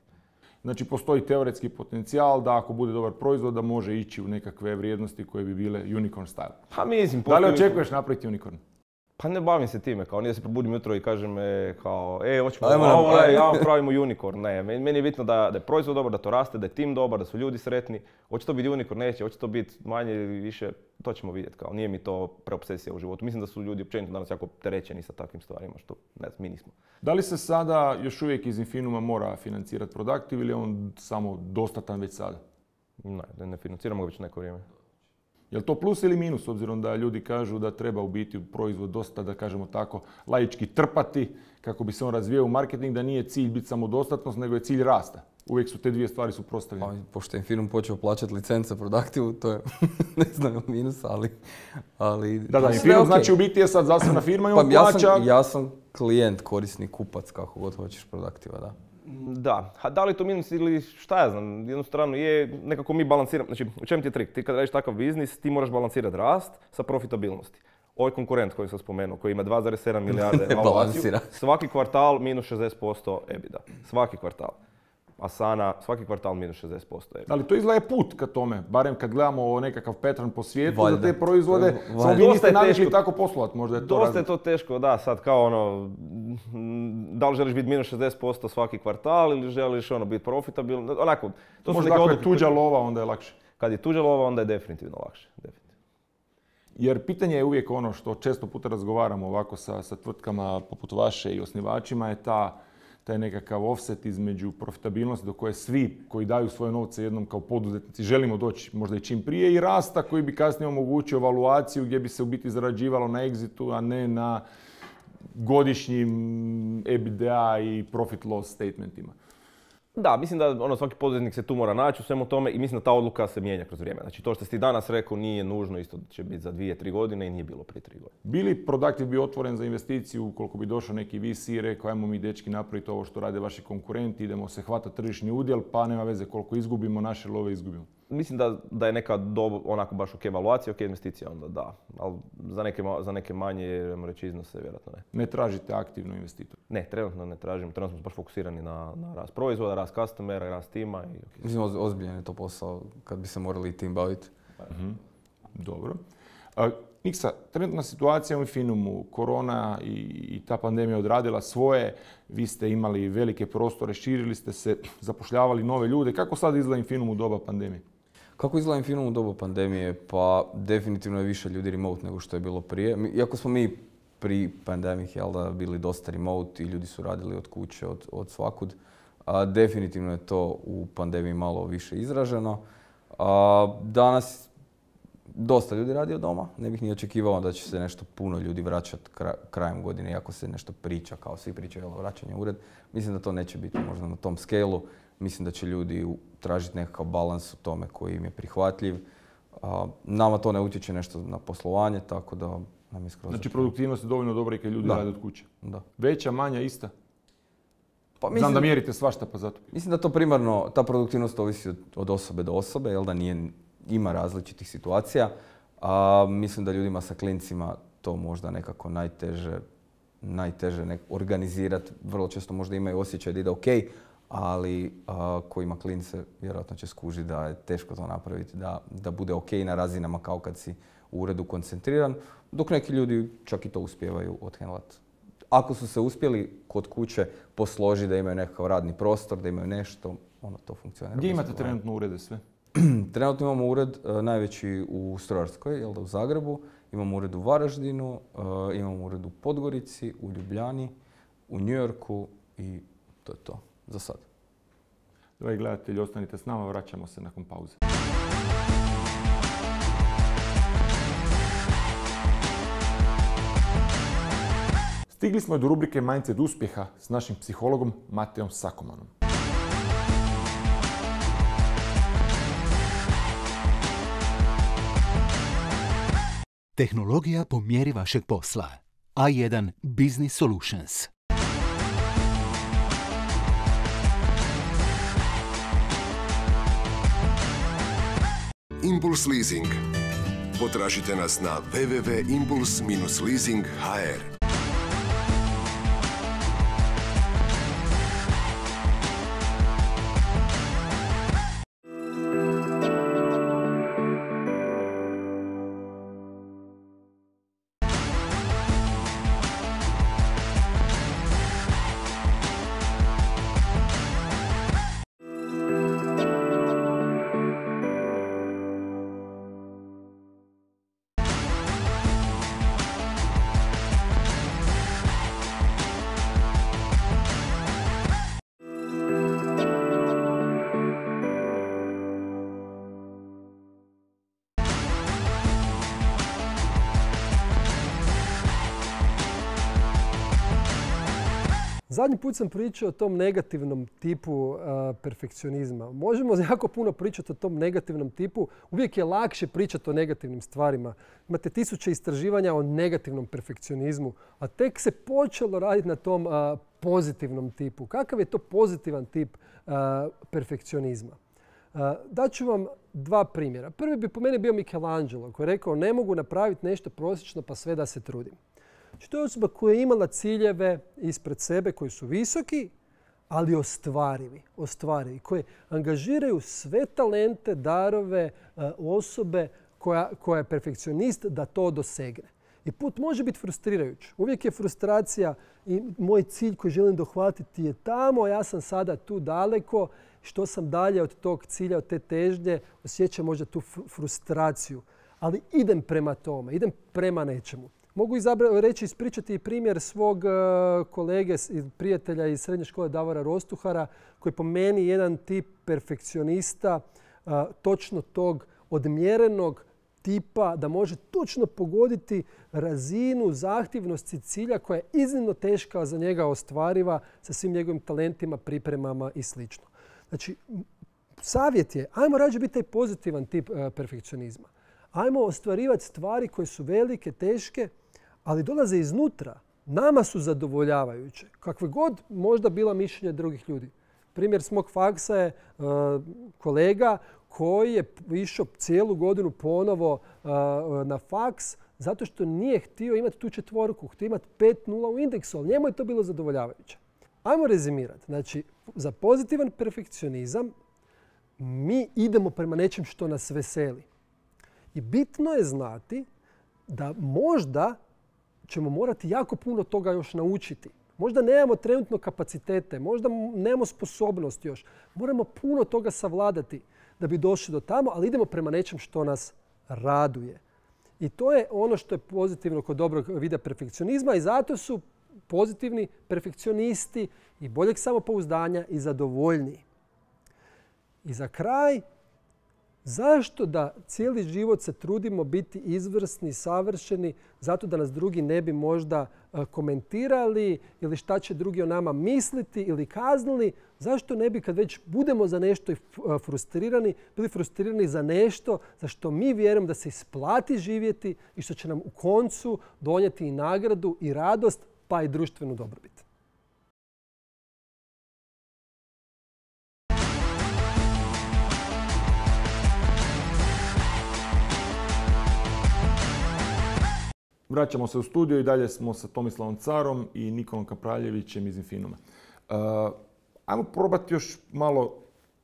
Znači postoji teoretski potencijal da ako bude dobar proizvod da može ići u nekakve vrijednosti koje bi bile unicorn style. Pa mislim, da li očekuješ napraviti unicorn? Pa ne bavim se time, kao nije da se probudim jutro i kažem e, kao, e, hoćemo ovo, e, ja pravimo unicorn. Ne, meni je bitno da, da je proizvod dobar, da to raste, da je tim dobar, da su ljudi sretni. Hoće to biti unicorn, neće, hoće to biti manje ili više, to ćemo vidjeti. Kao, nije mi to preobsesija u životu. Mislim da su ljudi općenito danas jako terećeni sa takvim stvarima, što ne znam, mi nismo. Da li se sada još uvijek iz Infinuma mora financirati Productive ili je on samo dostatan već sada? Ne, ne financiramo ga već neko vrijeme. Je li to plus ili minus, obzirom da ljudi kažu da treba u biti proizvod dosta, da kažemo tako, laički trpati kako bi se on razvijao u marketing, da nije cilj biti samodostatnost, nego je cilj rasta. Uvijek su te dvije stvari suprotstavljene. Pa, pošto je Infinum počeo plaćati licence Productive, to je, ne znam, minus, ali... ali da, da, Infinum okay. Znači u biti je sad zasebna firma i on pa, ja plaća... Sam, ja sam klijent, korisnik, kupac, kako god hoćeš Productiva, da. Da, a da li to minus ili šta ja znam, jednu stranu je, nekako mi balansiramo, znači u čem ti je trik? Ti kad radiš takav biznis, ti moraš balansirati rast sa profitabilnosti. Ovaj konkurent koji sam spomenuo, koji ima dva zarez sedam milijarde evaluaciju, svaki kvartal minus šezdeset posto EBITDA. Svaki kvartal. Asana, svaki kvartal minus šezdeset posto EBITDA. Ali to izgleda je put ka tome, barem kad gledamo nekakav pattern po svijetu Valjda. za te proizvode, samo vi niste navikli tako poslovati, možda je to Dosta razlog. je to teško, da, sad kao ono, da li želiš biti minus šezdeset posto svaki kvartal ili želiš ono biti profitabilan, onako, to su Možda neke ako je odluke tuđa koje- lova, onda je lakše. Kad je tuđa lova, onda je definitivno lakše. Definitivno. Jer pitanje je uvijek ono što često puta razgovaramo ovako sa, sa tvrtkama poput vaše i osnivačima je ta, taj nekakav offset između profitabilnosti do koje svi koji daju svoje novce jednom kao poduzetnici želimo doći možda i čim prije i rasta koji bi kasnije omogućio evaluaciju gdje bi se u biti zarađivalo na exitu, a ne na godišnjim EBITDA i profit loss statementima. Da, mislim da ono, svaki poduzetnik se tu mora naći u svemu tome i mislim da ta odluka se mijenja kroz vrijeme. Znači to što si ti danas rekao nije nužno, isto će biti za dvije, tri godine i nije bilo prije tri godine. Bili Productive bi otvoren za investiciju ukoliko bi došao neki V C i rekao ajmo mi dečki napraviti ovo što rade vaši konkurenti, idemo se hvatati tržišni udjel pa nema veze koliko izgubimo, naše love izgubimo. Mislim da, da je neka dob, onako baš ok evaluacija, ok investicija, onda da. Ali za neke, ma- za neke manje, ajmo reći, iznose, vjerojatno ne. Ne tražite aktivno investitor. Ne, trenutno ne tražimo. Trenutno smo baš fokusirani na, na rast proizvoda, rast customera, rast tima. I okay. Mislim, oz- ozbiljan je to posao kad bi se morali i tim baviti. Dobro. A, Niksa, trenutna situacija u Infinumu, korona i, i ta pandemija odradila svoje, vi ste imali velike prostore, širili ste se, zapošljavali nove ljude. Kako sad izgleda Infinum u doba pandemije? Kako izgleda Infinum u dobu pandemije? Pa definitivno je više ljudi remote nego što je bilo prije. Mi- Iako smo mi pri pandemic jel da, bili dosta remote i ljudi su radili od kuće, od, od svakud, a, definitivno je to u pandemiji malo više izraženo. A, danas dosta ljudi radi od doma. Ne bih ni očekivao da će se nešto puno ljudi vraćati kra- krajem godine, iako se nešto priča, kao svi pričaju o vraćanju u ured. Mislim da to neće biti možda na tom scale-u. Mislim da će ljudi u- tražiti nekakav balans u tome koji im je prihvatljiv. A, nama to ne utječe nešto na poslovanje, tako da nam je skroz... Znači produktivnost je dovoljno dobra i kad ljudi Da. rade od kuće. Da. Veća, manja, ista? Pa Znam da mjerite svašta pa zato. Mislim da to primarno, ta produktivnost ovisi od, od osobe do osobe, jel da nije, ima različitih situacija. A mislim da ljudima sa klincima to možda nekako najteže, najteže nek- organizirati. Vrlo često možda imaju osjećaj da ide ok, ali a, ko ima klince vjerojatno će skužiti da je teško to napraviti, da, da bude ok na razinama kao kad si u uredu koncentriran, dok neki ljudi čak i to uspijevaju odhendlati. Ako su se uspjeli kod kuće posložiti da imaju nekakav radni prostor, da imaju nešto, ono to funkcionira. Gdje bez imate problema. trenutno urede sve? Trenutno imamo ured e, najveći u Strojarskoj, jel da, u Zagrebu, imamo ured u Varaždinu, e, imamo ured u Podgorici, u Ljubljani, u New Yorku i to je to za sad. Dragi gledatelji, ostanite s nama, vraćamo se nakon pauze. Stigli smo do rubrike Mindset uspjeha s našim psihologom Mateom Sakomanom. Tehnologija po mjeri vašeg posla. A jedan Business Solutions. Impuls Leasing. Potražite nas na w w w tačka impuls dash leasing tačka h r. Zadnji put sam pričao o tom negativnom tipu uh, perfekcionizma. Možemo jako puno pričati o tom negativnom tipu. Uvijek je lakše pričati o negativnim stvarima. Imate tisuće istraživanja o negativnom perfekcionizmu, a tek se počelo raditi na tom uh, pozitivnom tipu. Kakav je to pozitivan tip uh, perfekcionizma? Uh, daću vam dva primjera. Prvi bi po meni bio Michelangelo koji je rekao ne mogu napraviti nešto prosječno pa sve da se trudim. Znači, to je osoba koja je imala ciljeve ispred sebe koji su visoki, ali ostvarivi, ostvarivi, koje angažiraju sve talente, darove osobe koja, koja je perfekcionist da to dosegne. I put može biti frustrirajuć. Uvijek je frustracija i moj cilj koji želim dohvatiti je tamo, a ja sam sada tu daleko. Što sam dalje od tog cilja, od te težnje, osjećam možda tu frustraciju. Ali idem prema tome, idem prema nečemu. Mogu izabra- reći, ispričati primjer svog uh, kolege i prijatelja iz srednje škole Davora Rostuhara, koji je po meni jedan tip perfekcionista, uh, točno tog odmjerenog tipa da može točno pogoditi razinu zahtjevnosti cilja koja je iznimno teška za njega ostvariva sa svim njegovim talentima, pripremama i sl. Znači, savjet je, ajmo rađe biti taj pozitivan tip uh, perfekcionizma. Ajmo ostvarivati stvari koje su velike, teške, ali dolaze iznutra. Nama su zadovoljavajuće. Kakve god možda bila mišljenja drugih ljudi. Primjer s mog faksa je uh, kolega koji je išao cijelu godinu ponovo uh, na faks zato što nije htio imati tu četvorku, htio imati pet nula u indeksu, ali njemu je to bilo zadovoljavajuće. Ajmo rezimirati. Znači, za pozitivan perfekcionizam mi idemo prema nečem što nas veseli. I bitno je znati da možda ćemo morati jako puno toga još naučiti. Možda nemamo trenutno kapacitete, možda nemamo sposobnost još. Moramo puno toga savladati da bi došli do tamo, ali idemo prema nečem što nas raduje. I to je ono što je pozitivno kod dobrog vida perfekcionizma i zato su pozitivni perfekcionisti i boljeg samopouzdanja i zadovoljniji. I za kraj, zašto da cijeli život se trudimo biti izvrsni, savršeni, zato da nas drugi ne bi možda komentirali ili šta će drugi o nama misliti ili kaznili? Zašto ne bi kad već budemo za nešto frustrirani, bili frustrirani za nešto za što mi vjerujemo da se isplati živjeti i što će nam u koncu donijeti i nagradu i radost pa i društvenu dobrobit? Vraćamo se u studio i dalje smo sa Tomislavom Carom i Nikolom Kapraljevićem iz Infinuma. Uh, ajmo probati još malo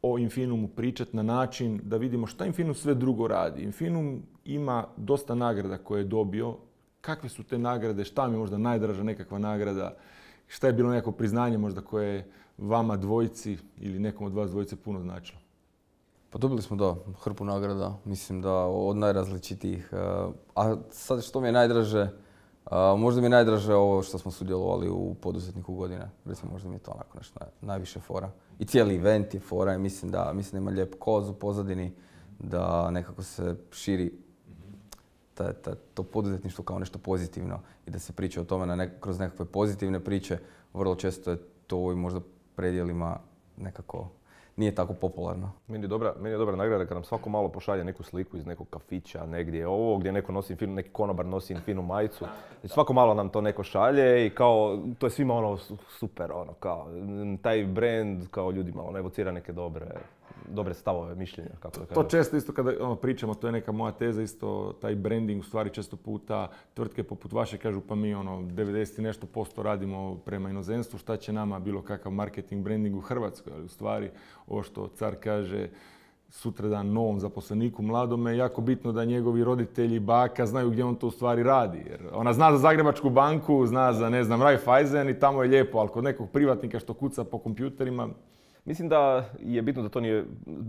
o Infinumu pričati na način da vidimo šta Infinum sve drugo radi. Infinum ima dosta nagrada koje je dobio. Kakve su te nagrade? Šta mi je možda najdraža nekakva nagrada? Šta je bilo neko priznanje možda koje je vama dvojici ili nekom od vas dvojice puno značilo? Pa dobili smo da, hrpu nagrada, mislim da od najrazličitijih. A sad što mi je najdraže, možda mi je najdraže ovo što smo sudjelovali u poduzetniku godine. Recimo možda mi je to onako nešto najviše fora. I cijeli event je fora i mislim da, mislim da ima lijep koz u pozadini, da nekako se širi ta, ta, to poduzetništvo kao nešto pozitivno i da se priča o tome na nek- kroz nekakve pozitivne priče. Vrlo često je to u ovim možda predjelima nekako nije tako popularno. Meni je dobra, meni je dobra nagrada kad nam svako malo pošalje neku sliku iz nekog kafića, negdje ovo, gdje neko nosi Infinu, neki konobar nosi Infinu majicu. Znači, svako malo nam to neko šalje i kao, to je svima ono super, ono, kao, taj brand, kao ljudima, ono, evocira neke dobre, dobre stavove, mišljenja, kako da kažem. To često isto kada ono, pričamo, to je neka moja teza, isto taj branding, u stvari često puta tvrtke poput vaše kažu pa mi ono devedeset i nešto posto radimo prema inozemstvu, šta će nama bilo kakav marketing, branding u Hrvatskoj, ali u stvari ovo što car kaže sutradan novom zaposleniku mladome, jako bitno da njegovi roditelji i baka znaju gdje on to u stvari radi. Jer ona zna za Zagrebačku banku, zna za ne znam Raiffeisen i tamo je lijepo, ali kod nekog privatnika što kuca po kompjuterima. Mislim da je bitno da to nije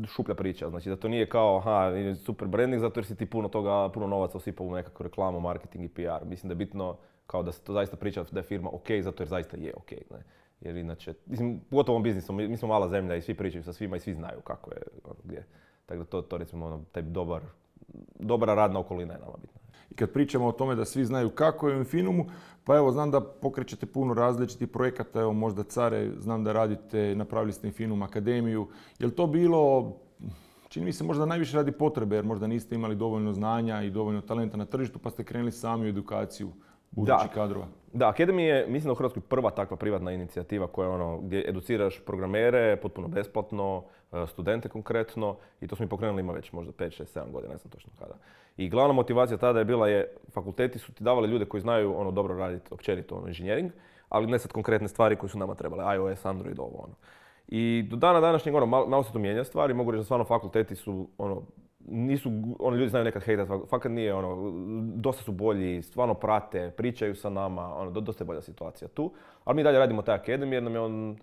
šuplja priča, znači da to nije kao aha, super branding zato jer si ti puno toga, puno novaca osipao u nekakvu reklamu, marketing i P R. Mislim da je bitno kao da se to zaista priča da je firma ok zato jer zaista je ok. Ne? Jer inače, mislim, pogotovo ovom biznisu, mi smo mala zemlja i svi pričaju sa svima i svi znaju kako je, ono, gdje. Tako da to, to recimo, ono, taj dobar, dobra radna okolina je nama bitna. kad pričamo o tome da svi znaju kako je u Infinumu, pa evo, znam da pokrećete puno različitih projekata, evo možda Care, znam da radite, napravili ste Infinum Akademiju. Je li to bilo, čini mi se možda najviše radi potrebe, jer možda niste imali dovoljno znanja i dovoljno talenta na tržištu, pa ste krenuli sami u edukaciju budućih kadrova? Da, Academy je, mislim da u Hrvatskoj prva takva privatna inicijativa koja je ono, gdje educiraš programere potpuno besplatno, studente konkretno, i to smo mi pokrenuli ima već možda pet, šest, sedam godina, ne znam točno kada. I glavna motivacija tada je bila je, fakulteti su ti davali ljude koji znaju ono dobro raditi općenito ono, inženjering, ali ne sad konkretne stvari koje su nama trebale, iOS, Android, ovo ono. I do dana današnjeg ono, malo, malo se to mijenja stvari, mogu reći da stvarno fakulteti su ono, nisu, ono, ljudi znaju nekad hejtat, fakat nije, ono, dosta su bolji, stvarno prate, pričaju sa nama, ono, dosta je bolja situacija tu. Ali mi dalje radimo taj Academy jer nam je on,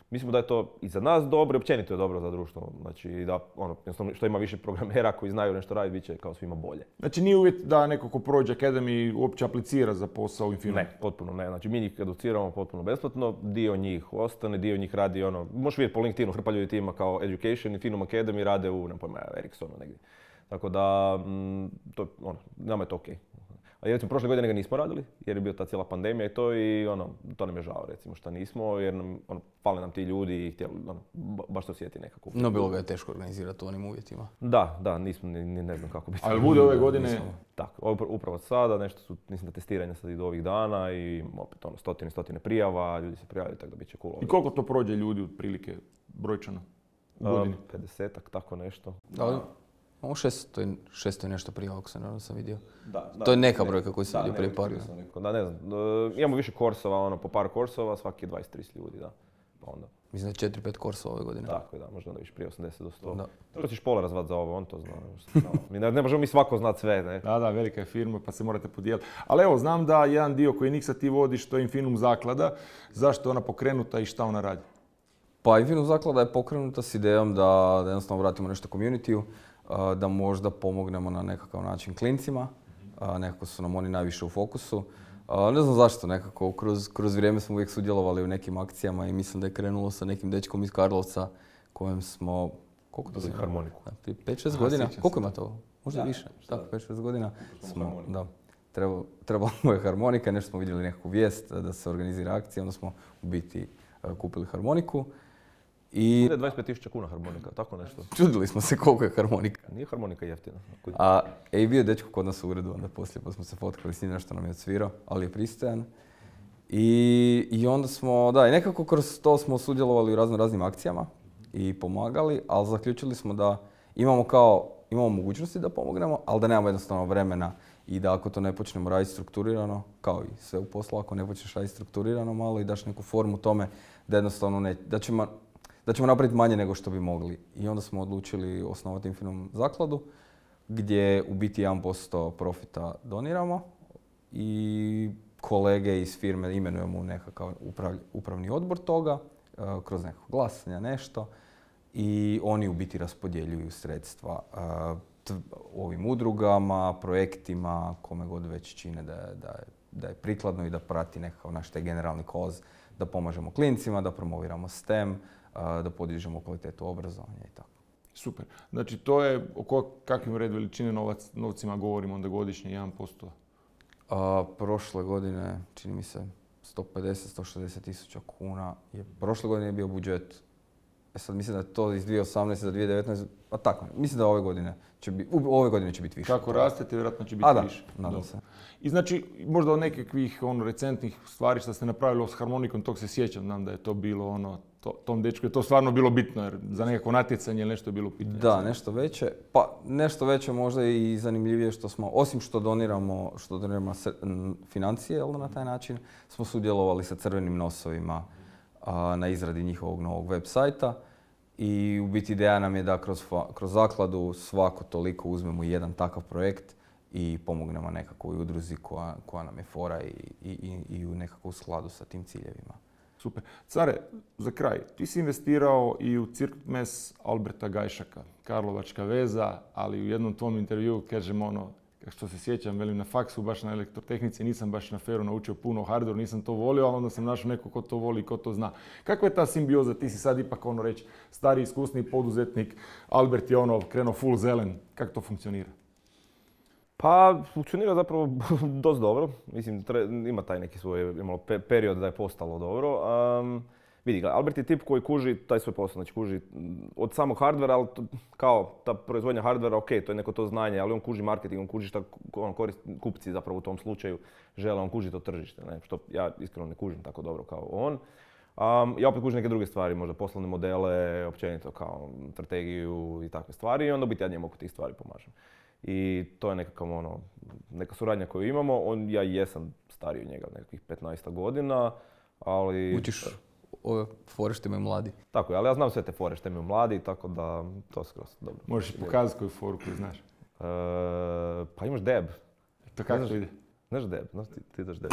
mislimo da je to i za nas dobro i općenito je dobro za društvo. Znači, da, ono, što ima više programera koji znaju nešto raditi, bit će kao svima bolje. Znači, nije uvjet da neko ko prođe Academy uopće aplicira za posao u Infinumu? Ne, potpuno ne. Znači, mi njih educiramo potpuno besplatno, dio njih ostane, dio njih radi, ono, možeš vidjeti po LinkedInu, hrpa ljudi ima kao Education, Infinum Academy rade u, ne pojma, Ericssonu negdje. Tako da, m, to, ono, nama je to okej. A recimo, prošle godine ga nismo radili, jer je bio ta cijela pandemija i to i ono, to nam je žao recimo što nismo, jer nam, ono, fale nam ti ljudi i htjeli, ono, baš to osjeti nekako. No, bilo ga je teško organizirati u onim uvjetima. Da, da, nismo, ni, ni ne znam kako bi... Ali bude ove godine... Tako, upravo sada, nešto su, mislim da testiranja sad i do ovih dana i opet ono, stotine, stotine prijava, ljudi se prijavljaju, tako da bit će cool. I koliko to prođe ljudi otprilike brojčano u godini? pedesetak, tako nešto. Da. Ovo šesto je nešto prije ovog sam, sam vidio. Da, da, to je neka brojka koju sam vidio prije par godina. Da, ne znam, uh, imamo više korsova, ono, po par korsova, svaki dvadeset do trideset ljudi, da. Pa onda. Mislim da je četiri pet korsova ove godine. Tako je, da, možda onda više prije osamdeset do sto. Da. To ćeš pola razvat za ovo, on to zna. mi ne, ne možemo mi svako znat sve, ne? Da, da, velika je firma pa se morate podijeliti. Ali evo, znam da jedan dio koji Niksa ti vodiš, to je Infinum zaklada. Zašto je ona pokrenuta i šta ona radi? Pa Infinum zaklada je pokrenuta s idejom da jednostavno vratimo nešto community-u, da možda pomognemo na nekakav način klincima, nekako su nam oni najviše u fokusu. Ne znam zašto, nekako kroz, kroz vrijeme smo uvijek sudjelovali u nekim akcijama i mislim da je krenulo sa nekim dečkom iz Karlovca kojem smo, koliko to znači? Harmoniku. pet šest godina, koliko ima to? Možda da, više, tako pet šest godina smo, da, trebalo, trebalo je harmonika, nešto smo vidjeli nekakvu vijest da se organizira akcija, onda smo u biti kupili harmoniku. I dvadeset pet tisuća kuna harmonika, tako nešto. Čudili smo se koliko je harmonika. Nije harmonika jeftina. A i bio je dečko kod nas u uredu, onda poslije pa smo se fotkali s njim, nešto nam je odsvirao, ali je pristojan. I, I onda smo, da, i nekako kroz to smo sudjelovali u razno raznim akcijama i pomagali, ali zaključili smo da imamo kao, imamo mogućnosti da pomognemo, ali da nemamo jednostavno vremena i da ako to ne počnemo raditi strukturirano, kao i sve u poslu, ako ne počneš raditi strukturirano malo i daš neku formu tome da jednostavno ne, da ćemo da ćemo napraviti manje nego što bi mogli. I onda smo odlučili osnovati Infinum zakladu gdje u biti jedan posto profita doniramo i kolege iz firme imenujemo u nekakav upravni odbor toga, kroz nekako glasanje, nešto. I oni u biti raspodjeljuju sredstva ovim udrugama, projektima, kome god već čine da je, da je, da je prikladno i da prati nekakav naš taj generalni koz, da pomažemo klincima, da promoviramo STEM, da podižemo kvalitetu obrazovanja i tako. Super. Znači to je, o kakvim red veličine novac, novcima govorimo onda godišnje, jedan posto? A, prošle godine, čini mi se, sto pedeset do sto šezdeset tisuća kuna. Je, prošle godine je bio budžet, e sad mislim da je to iz dvije tisuće osamnaeste za dvije tisuće devetnaeste. A tako, mislim da ove godine će biti, ove godine će biti više. Kako rastete, vjerojatno će biti A, da, više. nadam se. I znači, možda od nekakvih ono, recentnih stvari što ste napravili s harmonikom, tog se sjećam, znam da je to bilo ono, to, tom dečku je to stvarno bilo bitno, jer za nekako natjecanje ili nešto je bilo pitanje. Da, nešto veće. Pa nešto veće možda i zanimljivije što smo, osim što doniramo, što doniramo financije, jel, na taj način, smo sudjelovali sa Crvenim nosovima a, na izradi njihovog novog web sajta. I u biti ideja nam je da kroz, kroz zakladu svako toliko uzmemo jedan takav projekt i pomognemo nekakvoj udruzi koja, koja nam je fora i, i, i u nekakvom skladu sa tim ciljevima. Super. Care, za kraj, ti si investirao i u Cirkmes Alberta Gajšaka, Karlovačka veza, ali u jednom tvom intervjuu kažem ono, što se sjećam, velim na faksu, baš na elektrotehnici, nisam baš na feru naučio puno o hardwareu, nisam to volio, ali onda sam našao neko ko to voli i ko to zna. Kakva je ta simbioza? Ti si sad ipak ono reći stari, iskusni poduzetnik, Albert je ono krenuo full zelen. Kako to funkcionira? Pa, funkcionira zapravo dosta dobro. Mislim, tre, ima taj neki svoj imalo pe, period da je postalo dobro. Um, vidi, Albert je tip koji kuži taj svoj posao, znači kuži od samog hardvera, ali to, kao ta proizvodnja hardvera, ok, to je neko to znanje, ali on kuži marketing, on kuži šta on korist, kupci zapravo u tom slučaju žele, on kuži to tržište, ne? Što ja iskreno ne kužim tako dobro kao on. Um, ja opet kužim neke druge stvari, možda poslovne modele, općenito kao strategiju i takve stvari i onda biti ja njemu oko tih stvari pomažem. I to je nekakav ono, neka suradnja koju imamo. On, ja jesam stariji od njega, nekakvih petnaest godina, ali... Učiš ove fore što imaju mladi. Tako je, ali ja znam sve te fore što imaju mladi, tako da to skroz dobro. Možeš pokazati koju foru koju znaš? E, pa imaš deb. To kako to ide? Znaš deb, znaš ti, ti daš deb.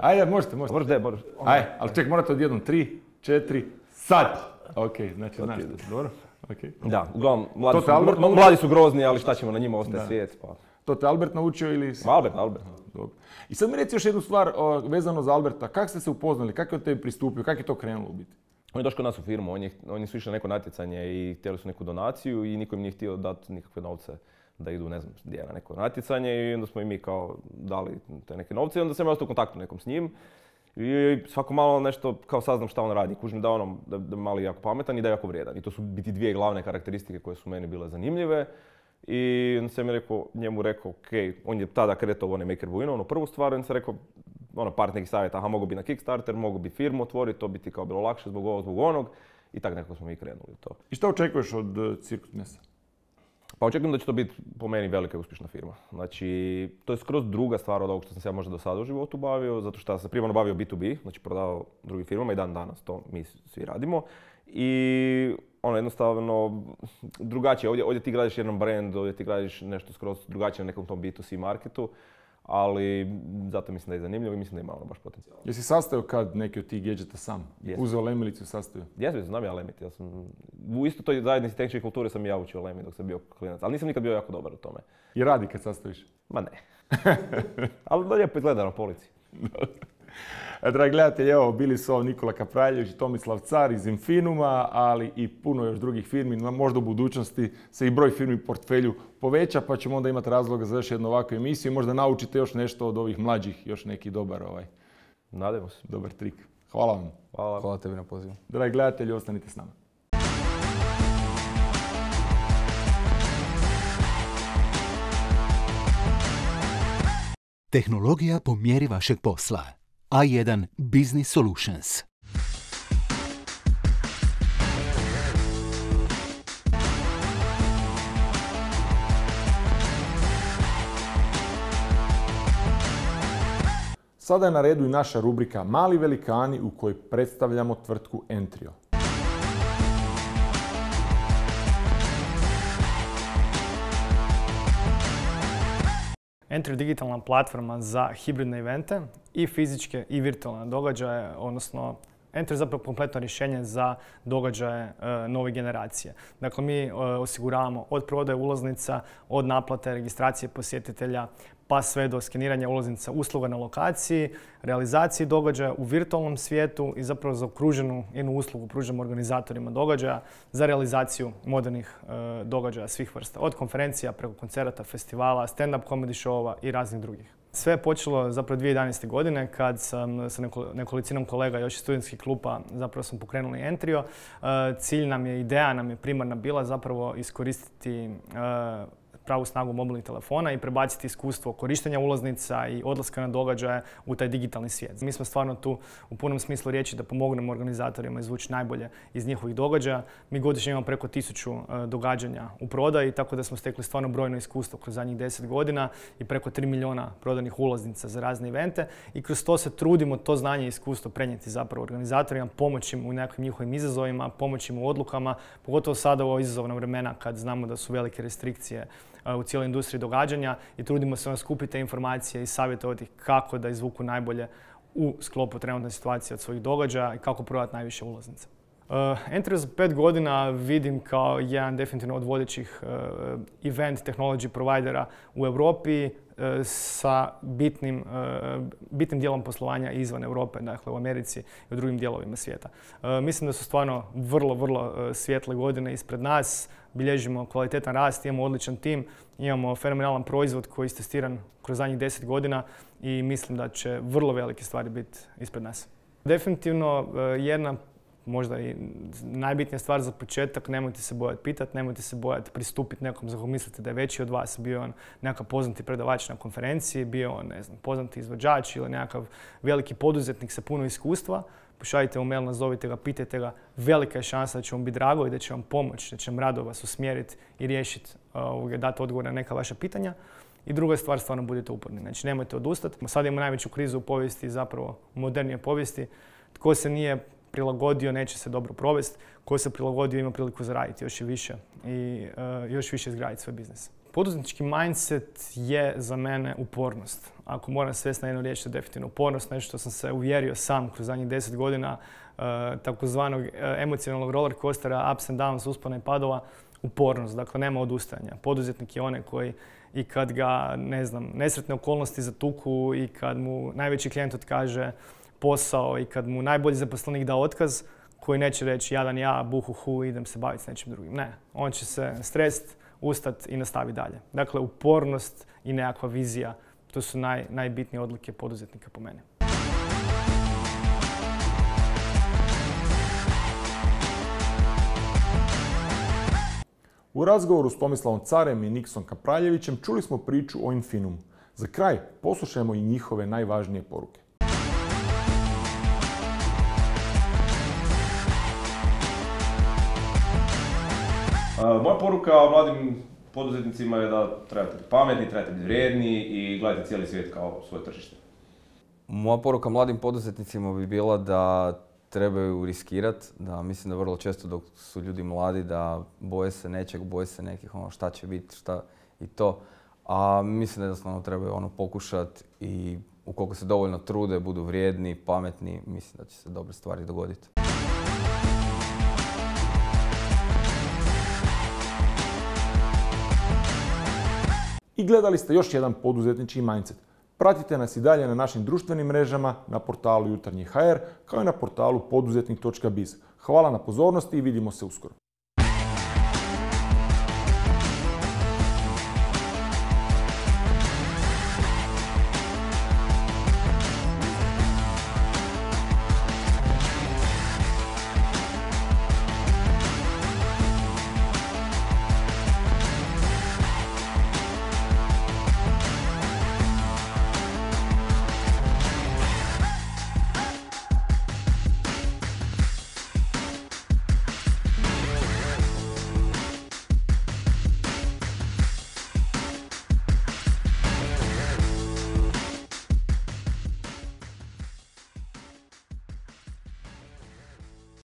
Ajde, možete, možete. Možeš deb, možeš. Ajde, ali ček, morate odjednom tri, četiri, sad! Ok, znači znaš, dobro. Okay. Da, uglavnom, mladi su, Albert, mladi su grozni, ali šta ćemo na njima, ostaje svijet. Pa. To te Albert naučio ili... Albert, Albert. Dobro. I sad mi reci još jednu stvar o, vezano za Alberta. Kako ste se upoznali, kako je od tebi pristupio, kako je to krenulo u biti? On je došao kod nas u firmu, oni, oni su išli na neko natjecanje i htjeli su neku donaciju i niko im nije htio dati nikakve novce da idu, ne znam, gdje na neko natjecanje i onda smo i mi kao dali te neke novce i onda sam ja ostao u kontaktu nekom s njim. I svako malo nešto kao saznam šta on radi. Kužim da, ono, da, da je mali jako pametan i da je jako vrijedan. I to su biti dvije glavne karakteristike koje su meni bile zanimljive. I onda sam je rekao, njemu rekao, ok, on je tada kretao u onaj Maker Buino, ono prvu stvar, on se rekao, ono, par nekih savjeta, aha, mogu bi na Kickstarter, mogu bi firmu otvoriti, to bi ti kao bilo lakše zbog ovog, zbog onog. I tako nekako smo mi krenuli to. I šta očekuješ od uh, Cirkus Mesa? Pa očekujem da će to biti po meni velika i uspješna firma. Znači, to je skroz druga stvar od ovog što sam se ja možda do sada u životu bavio, zato što sam se primarno bavio B to B, znači prodavao drugim firmama i dan danas to mi svi radimo. I ono jednostavno drugačije, ovdje, ovdje ti gradiš jedan brand, ovdje ti gradiš nešto skroz drugačije na nekom tom B to C marketu, ali zato mislim da je zanimljivo i mislim da ima ono baš potencijal. Jesi sastavio kad neki od tih gadgeta sam? Yes. Uzeo lemilicu i sastavio? Jesam, znam ja lemiti. Ja sam, u isto toj zajednici tehničke kulture sam i ja učio lemit dok sam bio klinac, ali nisam nikad bio jako dobar u tome. I radi kad sastaviš? Ma ne. Ali da lijepo izgleda na polici. Dragi gledatelji, evo, bili su ovo Nikola Kapraljević i Tomislav Car iz Infinuma, ali i puno još drugih firmi. Možda u budućnosti se i broj firmi u portfelju poveća, pa ćemo onda imati razloga za još jednu ovakvu emisiju i možda naučite još nešto od ovih mlađih, još neki dobar, ovaj, nadajmo se. Dobar trik. Hvala vam. Hvala. Hvala tebi na pozivu. Dragi gledatelji, ostanite s nama. Tehnologija po mjeri vašeg posla. A jedan Business Solutions. Sada je na redu i naša rubrika Mali velikani u kojoj predstavljamo tvrtku Entrio. Entrio je digitalna platforma za hibridne evente i fizičke i virtualne događaje, odnosno Entrio je zapravo kompletno rješenje za događaje e, nove generacije. Dakle, mi e, osiguravamo od prodaje ulaznica, od naplate, registracije posjetitelja, pa sve do skeniranja ulaznica usluga na lokaciji, realizaciji događaja u virtualnom svijetu i zapravo za okruženu jednu uslugu pružamo organizatorima događaja za realizaciju modernih e, događaja svih vrsta. Od konferencija preko koncerata, festivala, stand-up comedy showova i raznih drugih. Sve je počelo zapravo dvije tisuće jedanaeste. godine kad sam sa nekolicinom kolega još iz studentskih klupa zapravo smo pokrenuli Entrio. E, cilj nam je, ideja nam je primarna bila zapravo iskoristiti e, pravu snagu mobilnih telefona i prebaciti iskustvo korištenja ulaznica i odlaska na događaje u taj digitalni svijet. Mi smo stvarno tu u punom smislu riječi da pomognemo organizatorima izvući najbolje iz njihovih događaja. Mi godišnje imamo preko tisuću događanja u prodaji, tako da smo stekli stvarno brojno iskustvo kroz zadnjih deset godina i preko tri milijuna prodanih ulaznica za razne evente i kroz to se trudimo to znanje i iskustvo prenijeti zapravo organizatorima, pomoći im u nekakvim njihovim izazovima, pomoći im u odlukama, pogotovo sada u ovo izazovna vremena kad znamo da su velike restrikcije u cijeloj industriji događanja i trudimo se skupiti te informacije i savjetovati kako da izvuku najbolje u sklopu trenutne situacije od svojih događaja i kako prodati najviše ulaznica. Uh, Entrio za pet godina vidim kao jedan definitivno od vodećih uh, event technology providera u Europi. sa bitnim, bitnim dijelom poslovanja izvan Europe, dakle u Americi i u drugim dijelovima svijeta. Mislim da su stvarno vrlo, vrlo svijetle godine ispred nas. Bilježimo kvalitetan rast, imamo odličan tim, imamo fenomenalan proizvod koji je istestiran kroz zadnjih deset godina i mislim da će vrlo velike stvari biti ispred nas. Definitivno jedna, možda i najbitnija stvar za početak, nemojte se bojati pitati, nemojte se bojati pristupiti nekom za kog mislite da je veći od vas, bio on nekakav poznati predavač na konferenciji, bio on, ne znam, poznati izvođač ili nekakav veliki poduzetnik sa puno iskustva. Pošaljite mu mail, nazovite ga, pitajte ga. Velika je šansa da će vam biti drago i da će vam pomoći, da će vam rado vas usmjeriti i riješiti, uh, dati odgovor na neka vaša pitanja. I druga stvar, stvarno budite uporni. Znači, nemojte odustati. Sad imamo najveću krizu u povijesti, zapravo u modernije povijesti. Tko se nije prilagodio, neće se dobro provesti. Ko se prilagodio, ima priliku zaraditi još i više i uh, još više izgraditi svoj biznis. Poduzetnički mindset je za mene upornost. Ako moram svesti na jednu riječ, to je definitivno upornost, nešto što sam se uvjerio sam kroz zadnjih deset godina, uh, takozvanog uh, emocionalnog roller coastera, ups and downs, uspona i padova, upornost. Dakle, nema odustajanja. Poduzetnik je onaj koji i kad ga, ne znam, nesretne okolnosti zatuku i kad mu najveći klijent otkaže posao i kad mu najbolji zaposlenik da otkaz, koji neće reći jadan ja, buhuhu, idem se baviti s nečim drugim. Ne, on će se strest, ustati i nastavi dalje. Dakle, upornost i nekakva vizija, to su naj, najbitnije odlike poduzetnika po meni. U razgovoru s Tomislavom Carem i Niksom Kapraljevićem čuli smo priču o Infinumu. Za kraj poslušajmo i njihove najvažnije poruke. Moja poruka mladim poduzetnicima je da trebate biti pametni, trebate biti vrijedni i gledajte cijeli svijet kao svoje tržište. Moja poruka mladim poduzetnicima bi bila da trebaju riskirati, da mislim da vrlo često dok su ljudi mladi da boje se nečeg, boje se nekih ono šta će biti, šta i to. A mislim da jednostavno trebaju ono pokušati i ukoliko se dovoljno trude, budu vrijedni, pametni, mislim da će se dobre stvari dogoditi. I gledali ste još jedan poduzetnički mindset. Pratite nas i dalje na našim društvenim mrežama, na portalu Jutarnji ha er, kao i na portalu poduzetnik točka biz. Hvala na pozornosti i vidimo se uskoro.